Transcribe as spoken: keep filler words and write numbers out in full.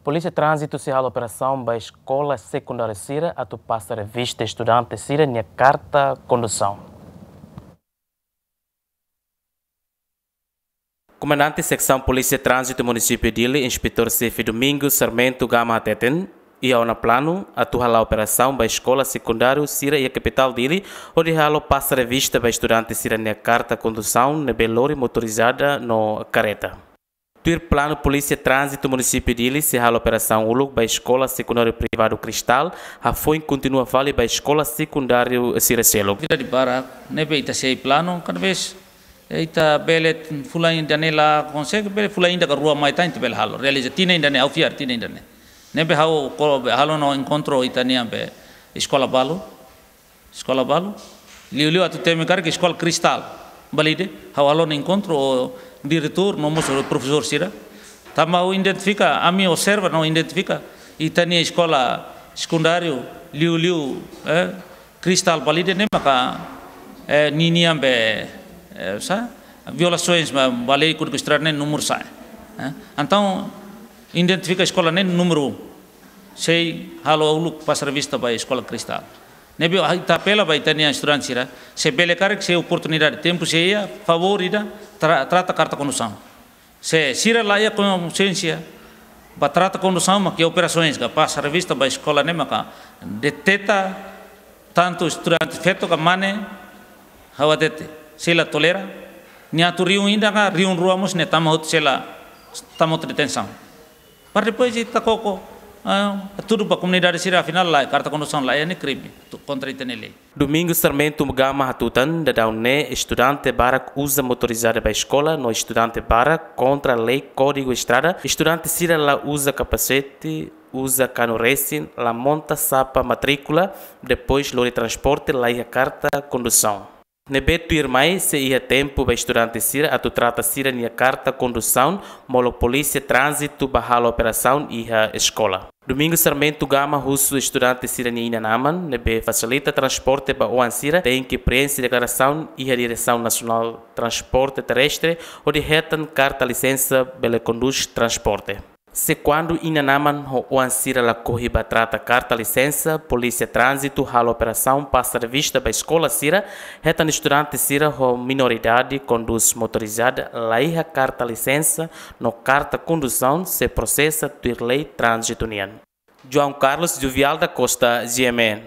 Polísia Tránzitu sei halo operasaun ba eskola sekundáriu sira atu pasa revista estudante sira-nia karta kondusaun. Komandante Seksaun Polísia Tránzitu Munisípiu Dili, Inspetór Xefe Domingos Sarmento Gama hateten, iha ona planu atu hala'o operasaun ba eskola sekundáriu sira iha kapitál Dili, hodi halo pasa revista ba estudante sira-nia karta kondusaun ne'ebé lori motorizada no kareta. Tuir planu, Polísia Tránzitu Munisípiu Dili sei halo operasaun uluk ba eskola sekundáriu privadu Cristal, hafoin kontinua fali ba eskola sekundáriu sira seluk. Vida di barak, ne'ebé ita sei planu, kada vez, eh, ita bele fulan ida-ne'e la konsege, bele fulan ida ka rua mai tan ita bele halo. Realiza tinan ida-ne'e, ha'u fiar tinan ida-ne'e. Ne'ebé ha'u ko be halo ona enkontru ita-nian be eskola balu, eskola balu. Liuliu atu temi karik eskola Cristal Balide, ha'u halo ona enkontru ho diretór no mós profesór sira. Tanba ha'u identifika, ami observa no identifika ita-nia eskola sekundáriu, liuliu, eh, Cristal Balide ne'e maka, eh, ninian be, eh, sá, violasaun ba, ba lei Kódigu Estrada ne'e númeru sa'e. Eh, entaun, identifika eskola ne'e númeru um. Sei halo uluk pasa revista ba eskola Cristal. Ne'ebé ita apela ba ita-nia estudante sira, se bele karik, se oportunidade, tempu sei iha, favór ida, tra-, trata karta kondusaun. Se sira la iha konxiénsia ba trata kondusaun, maka iha operasaun ka pasa revista ba eskola ne'e maka deteta tantu estudante feto ka mane, ha'u hatete, sei la tolera. Nia atu rihun ida ka rihun rua mós nia tama hotu, sei la tama hotu detensaun. Para depois ita koko, ah, tudu ba komunidade sira, afinál la, karta kondusaun la iha ne'e krime tu-, kontra ita-nia lei. Domingos Sarmento Gama hatutan, daudaun ne'e estudante barak uza motorizada ba eskola no estudante barak kontra lei Kódigu Estrada, estudante sira la uza kapasete, uza kanu resin, la monta sapa matríkula, depois lori transporte, la iha karta kondusaun. Ne'ebé tuirmai sei iha tempu ba estudante sira atu trata sira-nia karta kondusaun, molok Polísia Tránzitu bá halo operasaun iha eskola. Domingos Sarmento Gama husu estudante sira-nia inan-aman ne'ebé fasilita transporte ba oan sira tenke preenxe deklarasaun iha Diresaun Nasionál Transporte Terrestre hodi hetan karta lisensa bele kondús transporte. Se kuandu inan-aman ho oan sira lakohi bá trata karta lisensa, Polísia Tránzitu halo operasaun pasa revista ba eskola sira, hetan estudante sira ho minoridade kondús motorizada la iha karta lisensa no karta kondusaun sei prosesa tuir lei tránzitu nian. João Carlos Juvial da Costa, G M N.